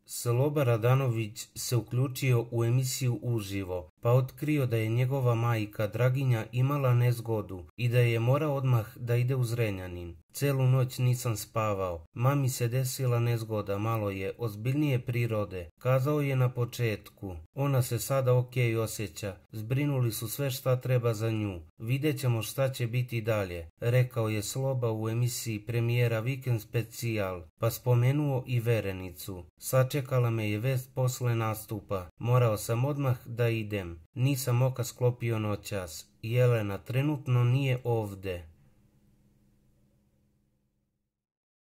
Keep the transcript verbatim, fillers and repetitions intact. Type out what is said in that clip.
Sloba Radanović se uključio u emisiju uživo, pa otkrio da je njegova majka Draginja imala nezgodu i da je morao odmah da ide u Zrenjanin. Celu noć nisam spavao, mami se desila nezgoda, malo je ozbiljnije prirode, kazao je na početku. Ona se sada okej osjeća, zbrinuli su sve šta treba za nju, vidjet ćemo šta će biti dalje, rekao je Sloba u emisiji premijera Vikend specijal, pa spomenuo i Verenicu. Sačekala me je vest posle nastupa, morao sam odmah da idem, nisam oka sklopio noćas, Jelena trenutno nije ovde.